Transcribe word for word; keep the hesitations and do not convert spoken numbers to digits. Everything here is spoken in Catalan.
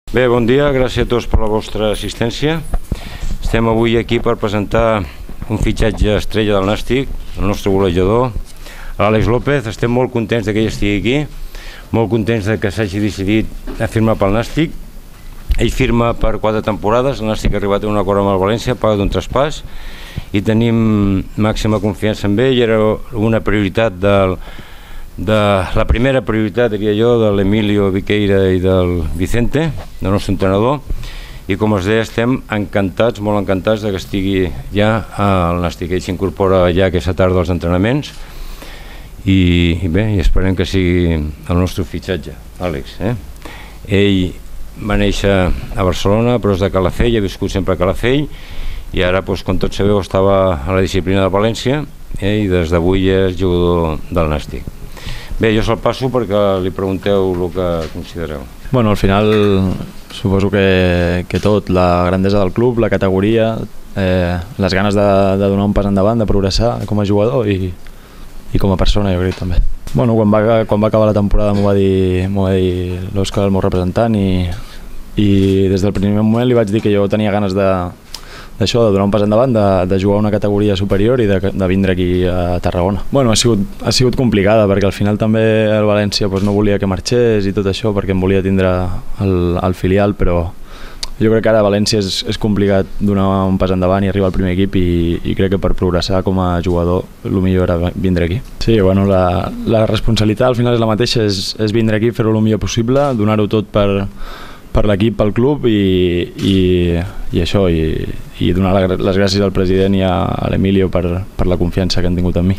Bé, bon dia, gràcies a tots per la vostra assistència. Estem avui aquí per presentar un fitxatge estrella del Nàstic, el nostre golejador, l'Àlex López. Estem molt contents que ell estigui aquí, molt contents que s'hagi decidit a firmar pel Nàstic. Ell firma per quatre temporades, el Nàstic ha arribat a un acord amb el València, paga d'un traspàs, i tenim màxima confiança en ell. Era una prioritat del de la primera prioritat, diria jo, de l'Emilio Viqueira i del Vicente, del nostre entrenador, i com us deia, estem encantats, molt encantats de que estigui ja al Nàstic. Ell s'incorpora ja aquesta tarda als entrenaments i, i bé, i esperem que sigui el nostre fitxatge, Àlex. Eh? Ell va néixer a Barcelona, però és de Calafell, ha viscut sempre a Calafell, i ara, doncs, com tots sabeu, estava a la disciplina de València, eh? I des d'avui és jugador del Nàstic. Bé, jo se'l passo perquè li pregunteu el que considereu. Bueno, al final suposo que, que tot, la grandesa del club, la categoria, eh, les ganes de, de donar un pas endavant, de progressar com a jugador i, i com a persona, jo crec també. Bueno, quan va, quan va acabar la temporada m'ho va dir, m'ho va dir l'Òscar, el meu representant, i, i des del primer moment li vaig dir que jo tenia ganes de d'això, de donar un pas endavant, de, de jugar a una categoria superior i de, de vindre aquí a Tarragona. Bueno, ha sigut, ha sigut complicada perquè al final també el València doncs, no volia que marxés i tot això perquè em volia tindre al, al filial, però jo crec que ara a València és, és complicat donar un pas endavant i arribar al primer equip, i, i crec que per progressar com a jugador el millor era vindre aquí. Sí, bueno, la, la responsabilitat al final és la mateixa, és, és vindre aquí, fer-ho el millor possible, donar-ho tot per per l'equip, pel club, i, i, i això, i, i donar les gràcies al president i a l'Emilio per, per la confiança que han tingut en mi.